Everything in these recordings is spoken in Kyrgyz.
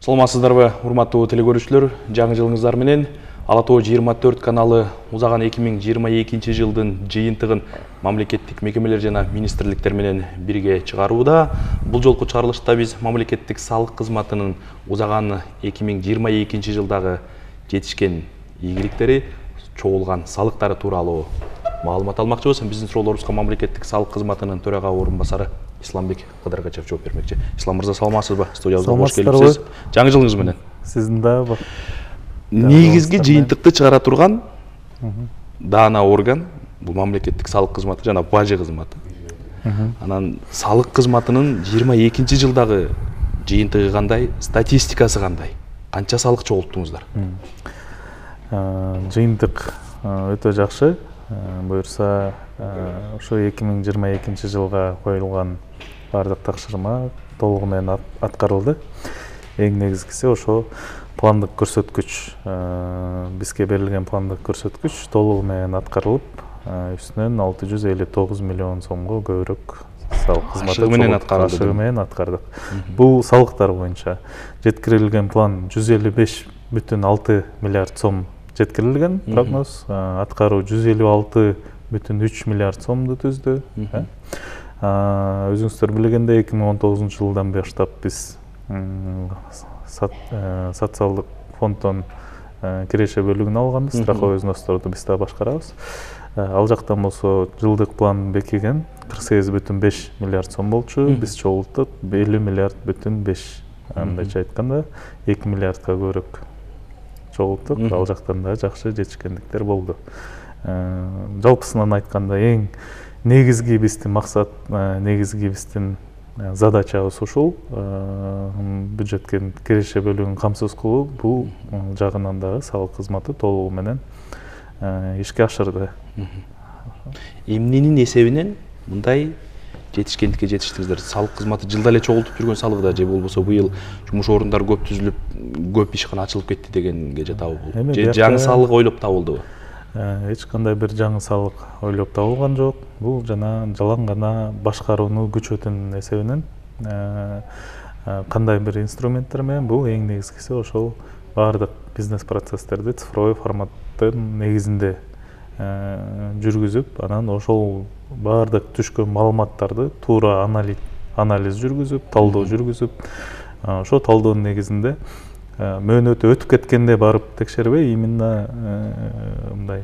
Саламатсыздарбы, урматтуу телекөрүүчүлөр, жаңы жылыңыздар менен Ала Тоо 24 каналы узаган 2022 жылдын жыйынтыгын мамлекеттик мекемелер жана министрликтер менен бирге чыгарууда. Бул жолку чыгарылышта биз мамлекеттик салык кызматынын узаган 2022 жылдагы жетишкен ийгиликтери, чогулган салыктары тууралуу маалымат алмакчыбыз. Биздин суроолорубузга мамлекеттик салык кызматынын төрага орун басары Исламбек Кыдыргачев жооп бермекчи. Ислам мырза, саламатсызбы? Студиябызга кош келипсиз. Жаңы жылыңыз менен. Сиздин дагы негизги жыйынтыкты чыгара турган даана орган бул мамлекеттик салык кызматы жана бажы кызматы. Анан салык кызматынын 22 жылдагы жыйынтыгы кандай, статистикасы кандай? Канча салык чогулттуңуздар? Жыйынтык өтө жакшы. Буюрса, ошо 2022 жылга коюлган бардык тапшырма толугу менен аткарылды. Эң негизгиси ошо пландык көрсөткүч, бизге берилген пландык көрсөткүч толугу менен аткарылып, үстүнөн 659 миллион сомго көбүрөөк салык кызматы менен аткардык. Бул салыктар боюнча жеткирилген план 155,6 миллиард сом жеткирилген прогноз, аткаруу 156,3 миллиард сомду түздү. Өзүңүздөр билгендей, 2019 жылдан баштап биз социалдык фонддон киреше бөлүгүн алганбыз, страховой взносторду биз да башкарабыз. Ал жактан болсо жылдык план бекиген 48,5 миллиард сом болчу, биз чогулттук 50,5 мындайча айтканда 2 миллиардка көбүрөөк чогулттук. Ал жактан да жакшы жетишкендиктер болду. Жалпысынан айтканда эң негизги биздин максат, негизги биздин задачабыз ушул. Бюджетке киреше бөлүгүн камсыз кылуу, бул жагынан дагы салык кызматы толугу менен ишке ашырды. Эмненин эсебинен мындай жетишкендикке жетиштиңиздер? Салык кызматы жылда эле чогултуп жүргөн салыгда же болбосо быйыл жумуш орундары көп түзүлүп, көп ишкана ачылып кетти дегенге жатабы бул? Же жаңы салык ойлоп табылдыбы? Эч кандай бир жаңы салык ойлоп табылган жок. Бул жана жалаң гана башкарууну күчөтүүнүн эсебинен кандай бир инструменттер менен, бул эң негизгиси ошол баардык бизнес процесстерди цифровой форматтын негизинде жүргүзүп, анан ошол баардык түшкөн маалыматтарды туура анализ жүргүзүп, талдоо жүргүзүп, ошо талдоонун негизинде мөөнөтү өтүп кеткенде барып текшербей, именно мындай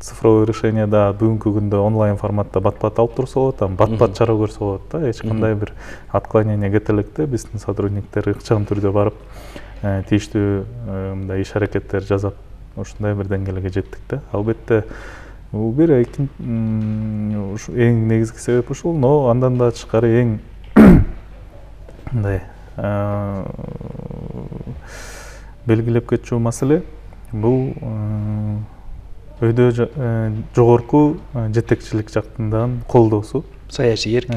цифровой решенияда бүгүнкү күндө онлайн форматта бат-бат алып турса болот, бат-бат чара көрсө болот да. Эч кандай бир отклонение кетеликте биздин сотрудниктер ыкчам түрдө барып тийиштүү мындай иш аракеттер жасап, ушундай бир деңгээлге жеттик да. Албетте бул бир эң негизги себеп ушул, но андан да тышкары эң мындай белгилеп кетчү маселе бул өйдө жогорку жетекчилик жактан колдоосу, саясий эрк.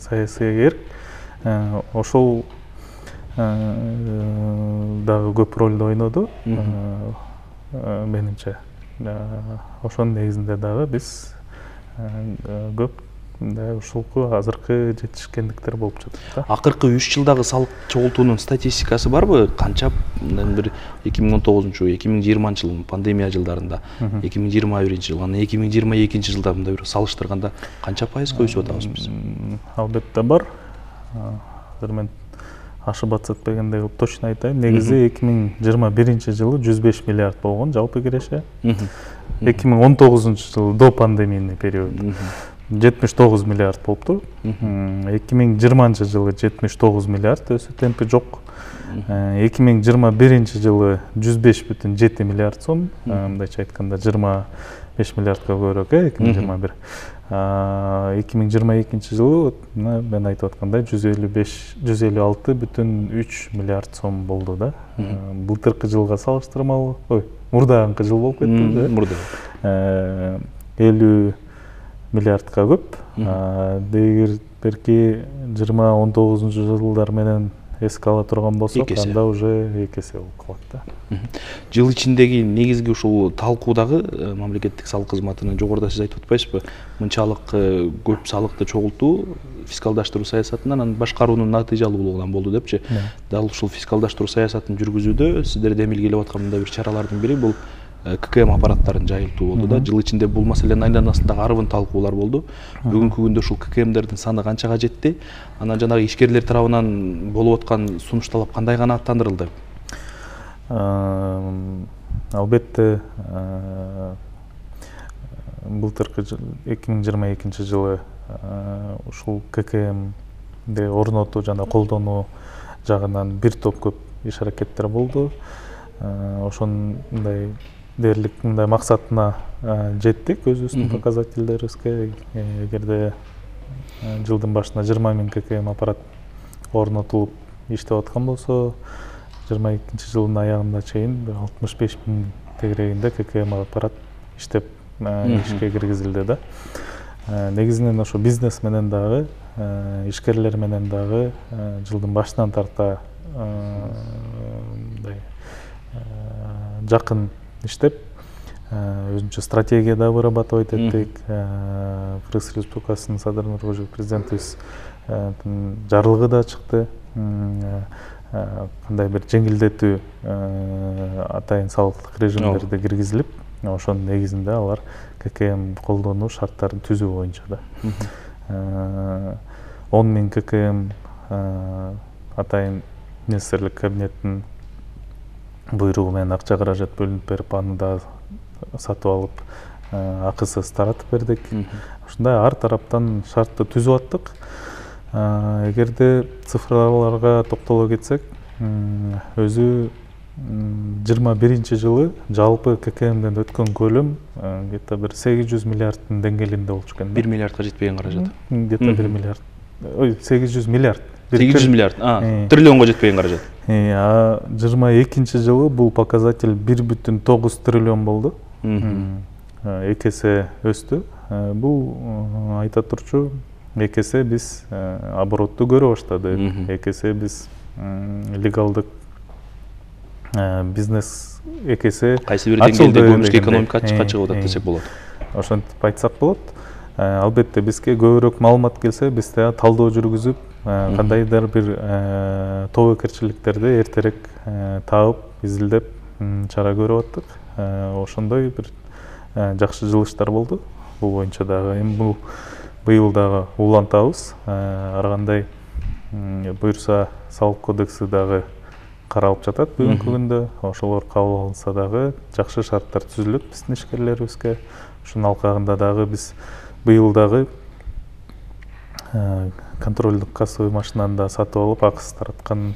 Саясий эрк ошол дагы көп ролду ойноду менимче. Ошонун негизинде дагы биз көп ушулку азыркы жетишкендиктер болуп жатат. Акыркы 3 жылдагы салык чогултуунун статистикасы барбы? Канча бир 2019-2020 жыл пандемия жылдарында, 2021 жыл, анан 2022 жылда мындай бир салыштырганда канча пайызга өсүп атабыз биз? Албетте бар. Азыр мен ашып атпагандай кылып точно айтайын. Негизи 2021 жылы 105 миллиард болгон жалпы киреше. 2019 жылы до пандемийный период 79 миллиард болупту. 2020 жылы 79 миллиард, өсүү темпи жок. 2021 жылы 105,7 миллиард сом, мындайча айтканда 25 миллиардка көбүрөөк, 2021. 2022 жылы мен айтып аткандай 156,3 миллиард сом болду да. Былтыркы жылга салыштырмалуу, мурдагы жыл болуп кетти. Мурда 50 миллиардка көп. Эгер берки 2019 жылдар менен эске ала турган болсок, анда уже 2 эсе болуп калат да. Жыл ичиндеги негизги ушул талкуудагы мамлекеттик салык кызматынын жогоруда сиз айтып атпайсызбы? Мынчалык көп салыкты чогултуу фискалдаштыруу саясатынан анан башкаруунун натыйжалуулугунан болду депчи. Дал ушул фискалдаштыруу саясатын жүргүзүүдө сиздерде эмилгелеп аткан мындай бир чаралардын бири бул ККМ аппараттарын жайылтуу болду да. Жыл ичинде бул маселенин айланасында арбын талкуулар болду. Бүгүнкү күндө ушул ККМдердин саны канчага жетти? Анан жанагы ишкерлер тарабынан болуп аткан сунуш талап кандай канааттандырылды? Албетте былтыркы 2022 жылы ушул ККМди орнотуу жана колдонуу жагынан бир топ көп иш аракеттер болду. Ошондой дээрлик мындай максатына жеттик өзүбүздүн показательдерибизге. Эгерде жылдын башында 20 000 ККМ аппарат орнотулуп иштеп аткан болсо, 22 жылдын аягына чейин 65 000 тегерегинде ККМ аппарат иштеп ишке киргизилди да. Негизинен ошо бизнес менен дагы, ишкерлер менен дагы жылдын башынан тарта жакын иштеп, өзүнчө стратегия да вырабатывать эттик. Кыргыз Республикасынын Садыр Нуркожоев президентибиз жарлыгы да чыкты. Кандай бир жеңилдетүү атайын салыктык режимдерди киргизилип, ошонун негизинде алар ККМ колдонуу шарттарын түзүү боюнча да. 10 000 ККМ атайын министрлик кабинеттин буйругу менен акча каражат бөлүнүп берип, аны да сатып алып, акысыз таратып бердик. Ушундай ар тараптан шартты түзүп аттык. Эгерде цифраларга токтоло кетсек, өзү 21 жылы жалпы ККМден өткөн көлөм где-то бир 800 миллиарддын деңгээлинде болчу экен. 1 миллиардка жетпеген каражат. Где-то 1 миллиард. Ой, 800 миллиард. 800 миллиард. Триллионго жетпеген каражат. 22 жылы бул показатель 1,9 триллион болду. 2 эсе өстү. Бул айта турчу 2 эсе биз оборотду көрө баштадык. 2 эсе биз легалдык бизнес 2 эсе кайсы бир деңгээлде көмүшкө экономика чыгып атат десек болот. Ошентип айтсак болот. Албетте бизге көбүрөөк маалымат келсе, биз да талдоо жүргүзүп, кандайдыр бир тобокерчиликтерди эртерээк таап, изилдеп чара көрүп аттык. Ошондой бир жакшы жылыштар болду. Бул боюнча дагы эми бул быйыл дагы улантабыз. Ар кандай буйрса салык кодекси дагы каралып жатат бүгүнкү күндө. Ошолор кабыл алынса дагы жакшы шарттар түзүлөт биздин ишкерлерибизге. Ушунун алкагында дагы биз быйыл дагы контролдук кассовый машинаны да сатып алып, акысыз тараткан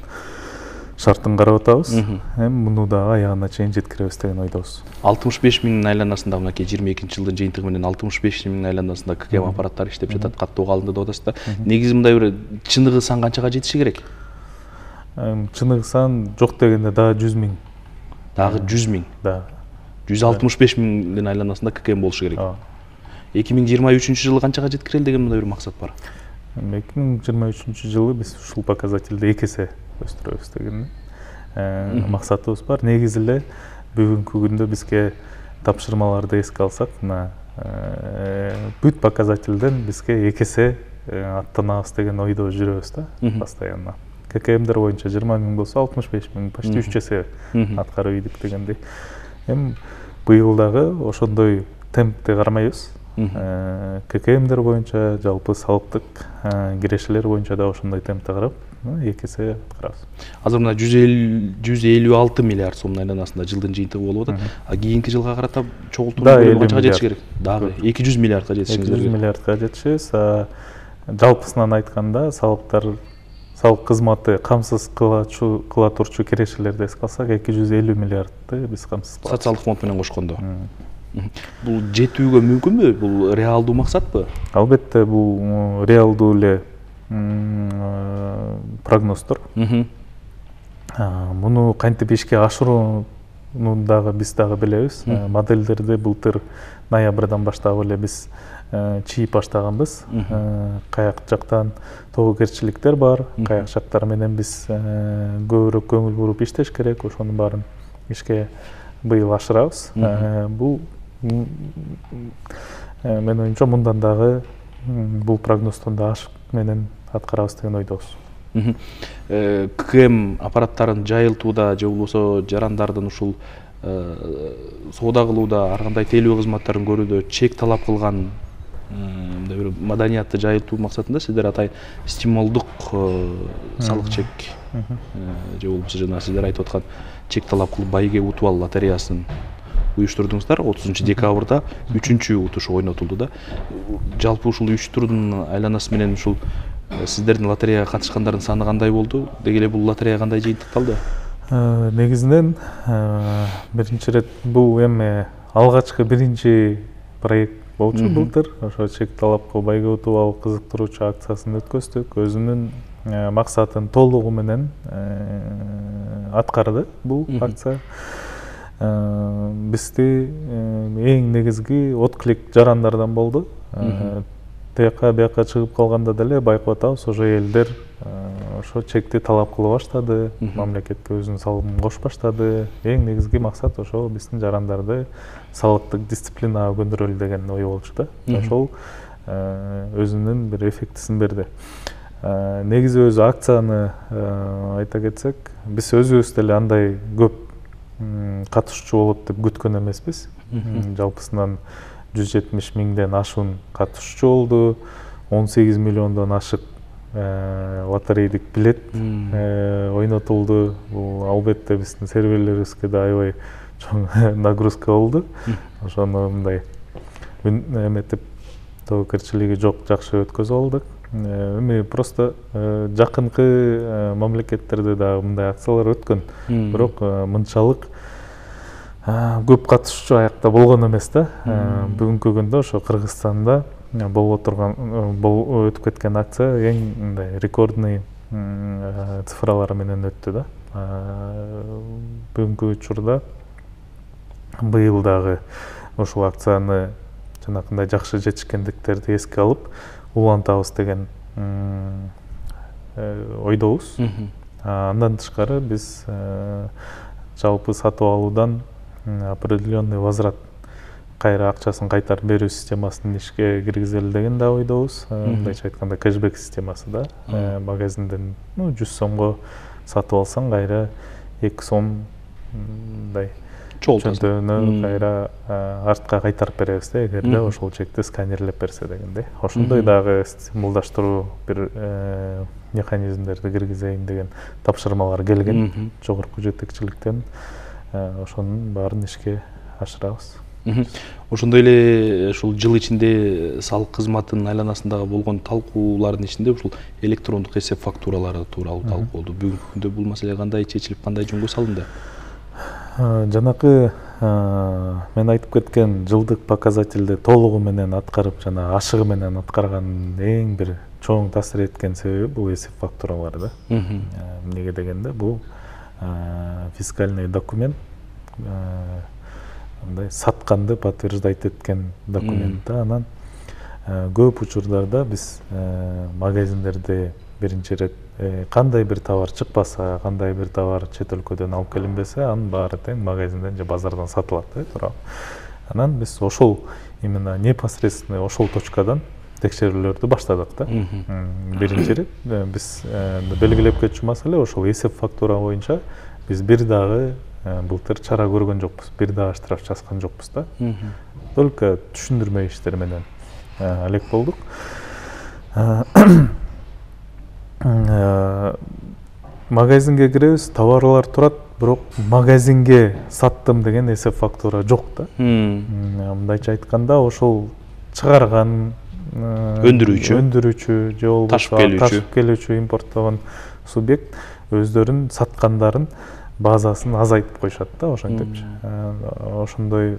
шартын карап атабыз. Эми муну дагы аягына чейин жеткиребиз деген ойдобуз. 65 000 айланасында мынакей 22 жылдын жыйынтыгы менен 65 000 айланасында ККМ аппараттары иштеп жатат, каттоого алынды деп атасыздар. Негизи мындай бир чыныгы сан канчага жетиши керек? Чыныгы сан жок дегенде дагы 100 000. Дагы 100 000. Да. 165 000 айланасында ККМ болушу керек. 2023 жылы канчага жеткирели деген мындай бир максат бар. 2023 жылы биз ушул показательди 2 эсе өстүрөбүз деген максатыбыз бар. Негизи эле бүгүнкү күндө бизге тапшырмаларды эске алсак, мына бүт показательден бизге 2 эсе аттанабыз деген ойдо жүрөбүз да постоянно. ККМдер боюнча 20 000 болсо 65 000, почти 3 эсе аткарып ийдик дегендей. Эми быйыл дагы ошондой темпти кармайбыз. ККМдер боюнча, жалпы салыктык кирешелер боюнча да ошондой темпти карап, 2 эсе аткарабыз. Азыр мына 156 миллиард сомдун айланасында жылдын жыйынтыгы болуп атат. Кийинки жылга карата чогултууру канчага жетиш керек? Дагы 200 миллиардка жетишиңиз керек. 200 миллиардка жетишиз. Жалпысынан айтканда салык кызматы камсыз кыла турчу кирешелерди эске алсак, 250 миллиардты биз камсыз кылабыз. Социалдык фонд менен кошкондо. Бул жетүүгө мүмкүнбү? Бул реалдуу максатпы? Албетте бул реалдуу эле прогноздор. Муну кантип ишке ашырууну дагы биз дагы билебиз. Модельдерди былтыр ноябрдан баштап эле биз чийип баштаганбыз. Каяк жактан тобокерчиликтер бар, каяк жактар менен биз көбүрөөк көңүл буруп иштеш керек. Ошонун баарын ишке быйыл ашырабыз. Бул менин оюмча мындан дагы бул прогноздон да ашып менен аткарабыз деген ойдобуз. КМ аппараттарын жайылтууда же болбосо жарандардын ушул соода кылууда ар кандай тейлөө кызматтарын көрүүдө чек талап кылган мындай бир маданиятты жайылтуу максатында сиздер атайын стимулдук салык чек же болбосо жана сиздер айтып аткан чек талап кылып байге утуп ал лотереясын уюштурдуңуздар. 30 декабрда 3-чү утушу ойнотулду да. Жалпы ушул уюштуруунун айланасы менен ушул сиздердин лотереяга катышкандардын саны кандай болду? Деги эле бул лотерея кандай жыйынтыкталды? Негизинен биринчи ирет бул эми алгачкы биринчи проект болчу былтыр. Ошо чек талапка байге утуп ал кызыктыруучу акциясын өткөздүк. Өзүнүн максатын толугу менен аткарды бул акция. Бизди эң негизги отклик жарандардан болду. Бияка чыгып калганда деле байкап атабыз, ошо элдер ошо чекти талап кыла баштады, мамлекетке өзүнүн салымын кошуп баштады. Эң негизги максат ошол биздин жарандарды салыктык дисциплинага көндүрөлү деген ой болчу да. Ошол өзүнүн бир эффектисин берди. Негизи өзү акцияны айта кетсек, биз өзүбүз деле андай көп катышуучу болот деп күткөн эмеспиз. Жалпысынан 170 миңден ашуун катышуучу болду. 18 миллиондон ашык лотерейдик билет ойнотулду. Бул албетте биздин серверлерибизге да аябай чоң нагрузка болду. Ошону мындай эметип тобокерчилиги жок, жакшы өткөзүп алдык. Эми просто жакынкы мамлекеттерде да мындай акциялар өткөн. Бирок мынчалык көп катышуучу аякта болгон эмес да. Бүгүнкү күндө ошо Кыргызстанда болуп турган өтүп кеткен акция эң мындай рекордный цифралар менен өттү да. Бүгүнкү учурда быйыл дагы ушул акцияны жанакындай жакшы жетишкендиктерди эске алып улантабыз деген ойдобуз. Андан тышкары биз жалпы сатып алуудан определенный возврат кайра акчасын кайтарып берүү системасын ишке киргизели деген да ойдобуз. Мындайча айтканда кэшбэк системасы да. Магазинден 100 сомго сатып алсаң кайра 2 сом мындай чөнтөгүнө кайра артка кайтарып беребиз да, эгерде ошол чекти сканерлеп берсе дегендей. Ошондой дагы стимулдаштыруу бир механизмдерди киргизейин деген тапшырмалар келген жогорку жетекчиликтен. Ошонун баарын ишке ашырабыз. Ошондой эле ушул жыл ичинде салык кызматынын айланасындагы болгон талкуулардын ичинде ушул электрондук эсеп фактуралары тууралуу талкуу болду. Бүгүнкү күндө бул маселе кандай чечилип, кандай жөнгө салынды? Жанакы мен айтып кеткен жылдык показательди толугу менен аткарып жана ашыгы менен аткарган эң бир чоң таасир эткен себеби бул эсеп фактуралары да. Эмнеге дегенде бул фискальный документ, мындай сатканды подтверждать эткен документ да. Анан көп учурларда биз магазиндерде биринчи ирет кандай бир товар чыкпаса, кандай бир товар чет өлкөдөн алып келинбесе, анын баары тең магазинден же базардан сатылат да, туурабы. Анан биз ошол именно непосредственно ошол точкадан текшерүүлөрдү баштадык да. Биринчи ирет биз белгилеп кетчү маселе ошол эсеп фактура боюнча биз бир дагы былтыр чара көргөн жокпуз, бир дагы штраф жазган жокпуз да. Только түшүндүрмө иштери менен алек болдук. Магазинге киребиз, товарлар турат, бирок магазинге саттым деген эсеп фактура жок да. Мындайча айтканда ошол чыгарган өндүрүүчү же болбосо ташып келүүчү импорттогон субъект өздөрүн саткандарын базасын азайтып коюшат да, ошентипчи. Ошондой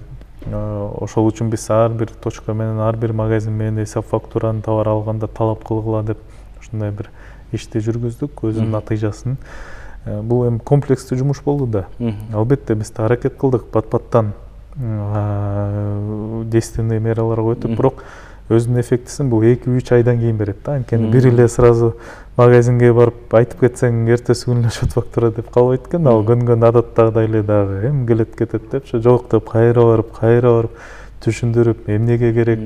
ошол үчүн биз ар бир точка менен, ар бир магазин менен эсеп фактураны товар алганда талап кылгыла деп ушундай бир ишти жүргүздүк, өзүнүн натыйжасын. Бул эми комплекстүү жумуш болду да. Албетте биз да аракет кылдык бат-баттан действенный мераларга өтүп, бирок өзүнүн эффектисин бул 2-3 айдан кийин берет да. Анткени бир эле сразу магазинге барып айтып кетсең эртеси күнү счет фактура деп калбайт экен. Ал көнгөн адаттагыдай эле дагы эми келет кетет деп жок деп кайра барып түшүндүрүп, эмнеге керек,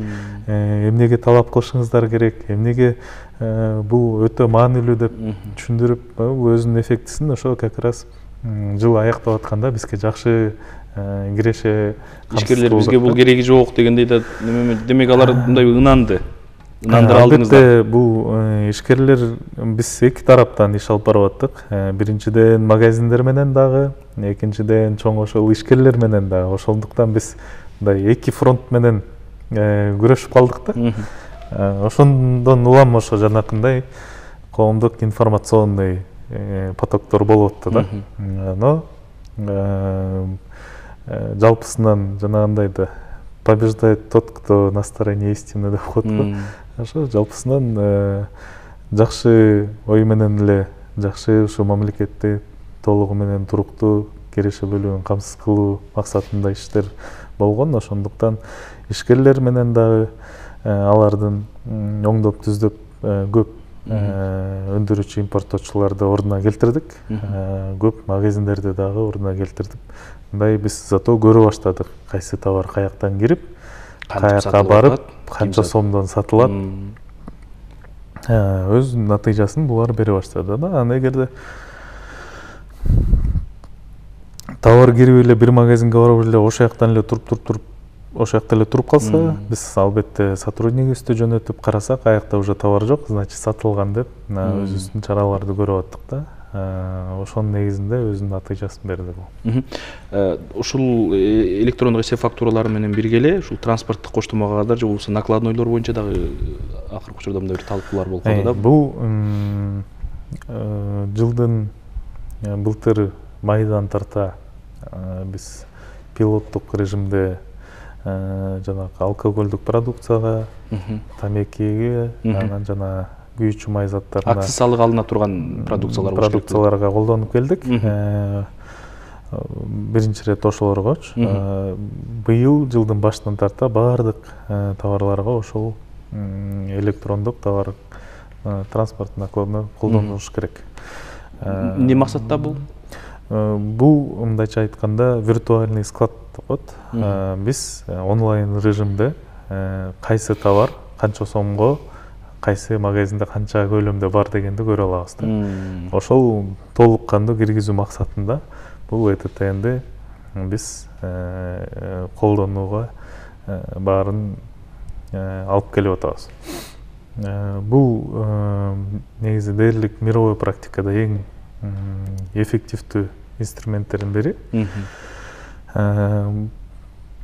эмнеге талап кылышыңыздар керек, эмнеге бул өтө маанилүү деп түшүндүрүп, бул өзүнүн эффектисин ошо как раз жыл аягдап атканда бизге жакшы киреше. Ишкерлер бизге бул кереги жок дегендей да, демек алар мындай ынанды. Ынандыра алдыңыздар. Албетте бул ишкерлер биз эки тараптан иш алып барып аттык. Биринчиден магазиндер менен дагы, экинчиден чоң ошол ишкерлер менен дагы. Ошондуктан биз мындай эки фронт менен күрөшүп калдык да. Ошондон улам ошо жанакындай коомдук информационный потоктор болуп атты да. Но жалпысынан жанагындай да побеждает тот, кто на стороне истины деп коет го. Ошо жалпысынан жакшы ой менен эле, жакшы ушу мамлекетти толугу менен туруктуу кереше бөлүгүн камсыз кылуу максатында иштер болгон. Ошондуктан ишкерлер менен дагы алардын оңдоп түздөп көп өндүрүүчү импорттоочуларды ордуна келтирдик. Көп магазиндерди дагы ордуна келтирдик. Мындай биз зато көрө баштадык, кайсы товар каяктан кирип, каяка барып, канча сомдон сатылат. Өз натыйжасын булар бере баштады да. Аны эгерде товар кирип эле бир магазинге барып эле ошол жактан эле туруп калса, биз албетте сотруднигибизди жөнөтүп карасак, аякта уже товар жок, значит сатылган деп өзүбүздүн чараларды көрүп аттык да. Ошонун негизинде өзүнүн натыйжасын берди бул. Ушул электрондук эсеп фактуралары менен бирге эле ушул транспорттук коштомого кадар же болбосо накладнойлор боюнча дагы акыркы учурда мындай бир талкуулар болуп калды да. Бул жылдын былтыр майдан тарта биз пилоттук режимде жанагы алкоголдук продукцияга, тамекиге, анан жана күйүүчү май заттарына акциз салыгы алына турган продукцияларга колдонуп келдик. Биринчи ирет ошолоргочу. Быйыл жылдын башынан тарта баардык товарларга ошол электрондук товар транспорт накладны колдонуш керек. Эмне максатта бул? Бул мындайча айтканда виртуальный склад деп коет. Биз онлайн режимде кайсы товар канча сомго, кайсы магазинде канча көлөмдө бар дегенди көрө алабыз да. Ошол толук кандуу киргизүү максатында бул ЭТТНди биз колдонууга баарын алып келип атабыз. Бул негизи дээрлик мировой практикада эң эффективдүү инструменттердин бири.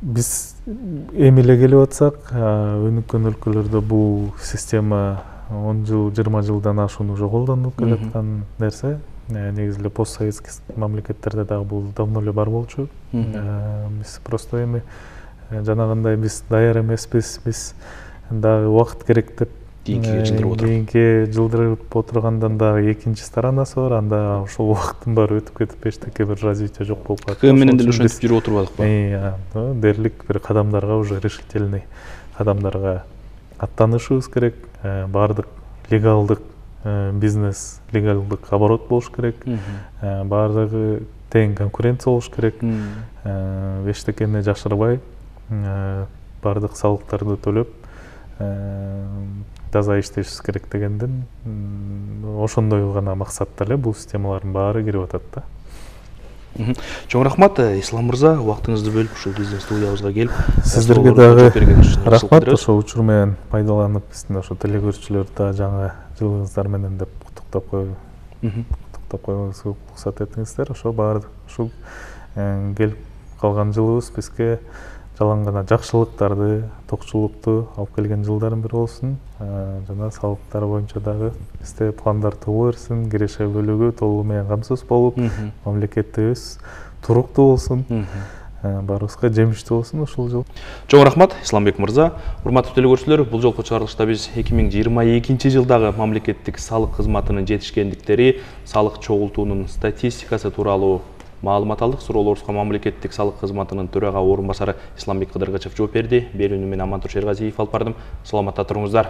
Биз эми эле келип атсак, өнүккөн өлкөлөрдө бул система 10 жыл, 20 жылдан ашуун уже колдонулуп келаткан нерсе. Негизи эле постсоветский мамлекеттерде дагы бул давно эле бар болчу. Биз просто эми жанагындай биз даяр эмеспиз, биз дагы убакыт керек деп кийинки жылдырып отургандан дагы экинчи сторонасы бар. Анда ошол убакыттын баары өтүп кетип эчтеке бир развитие жок болуп калат. КМ менен деле ошентип жүрүп отурбадыкпы? Дээрлик бир кадамдарга, уже решительный кадамдарга аттанышыбыз керек. Баардык легалдык бизнес, легалдык оборот болуш керек. Баардыгы тең конкуренция болуш керек. Эчтекени жашырбай, баардык салыктарды төлөп, таза иштешибиз керек дегенден ошондой гана максатта эле бул системалардын баары кирип атат да. Чоң рахмат, Ислам мырза, убактыңызды бөлүп ушул биздин студиябызга келип, сиздерге дагы рахмат. Ошол учур менен пайдаланып, биздин ошо телекөрүүчүлөрдү да жаңы жылыңыздар менен деп куттуктап койгонубузга уруксат этиңиздер. Ошо баардык ушул келип калган жылыбыз бизге жалаң гана жакшылыктарды, токчулукту алып келген жылдардын бири болсун. Жана салыктар боюнча дагы бизде пландар тугу берсин, киреше бөлүгү толугу менен камсыз болуп, мамлекетибиз туруктуу болсун, баарыбызга жемиштүү болсун ушул жыл. Чоң рахмат, Исламбек мырза. Урматтуу телекөрүүчүлөр, бул жолку чыгарылышта биз 2022 жылдагы мамлекеттик салык кызматынын жетишкендиктери, салык чогултуунун статистикасы тууралуу маалымат алдык. Суроолорубузга мамлекеттик салык кызматынын төрага орун басары Исламбек Кыдыргычев жооп берди. Берүүнү мен Амантур Шергазиев алып бардым. Саламатта туруңуздар.